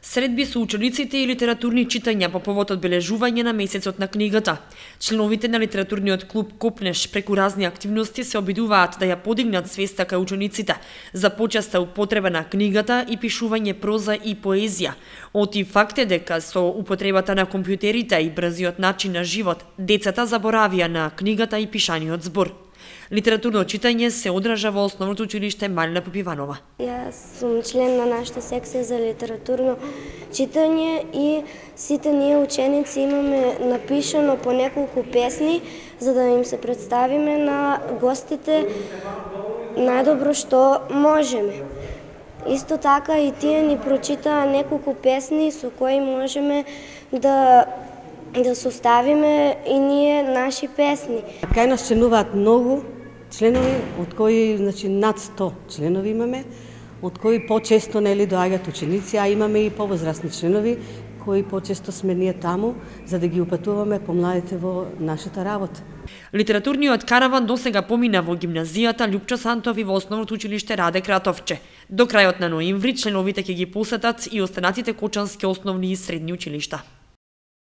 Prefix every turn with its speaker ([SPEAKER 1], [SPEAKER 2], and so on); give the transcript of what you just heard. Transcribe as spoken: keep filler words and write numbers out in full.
[SPEAKER 1] Средби со учениците и литературни читања по повод одбележување на месецот на книгата. Членовите на литературниот клуб Копнеш преку разни активности се обидуваат да ја подигнат свеста кај учениците за почеста употреба на книгата и пишување проза и поезија. Оти факт е дека со употребата на компјутерите и брзиот начин на живот, децата заборавија на книгата и пишаниот збор. Литературно читање се одржа во Основното училиште Малина Попиванова.
[SPEAKER 2] Јас сум член на нашата секција за литературно читање и сите ние ученици имаме напишано по неколку песни за да им се представиме на гостите најдобро што можеме. Исто така и тие ни прочитаа неколку песни со кои можеме да да составиме и ние наши песни.
[SPEAKER 3] Кај нас членуваат многу членови, од кои значи над сто членови имаме, од кои почесто нели доаѓаат ученици, а имаме и повозрасни членови кои почесто сме ние таму за да ги упатуваме помладите во нашата работа.
[SPEAKER 1] Литературниот караван досега помина во гимназијата Љупчо Сантов и во Основното училиште Раде Кратовче. До крајот на ноември членовите ќе ги посетат и останатите кочански основни и средни училишта.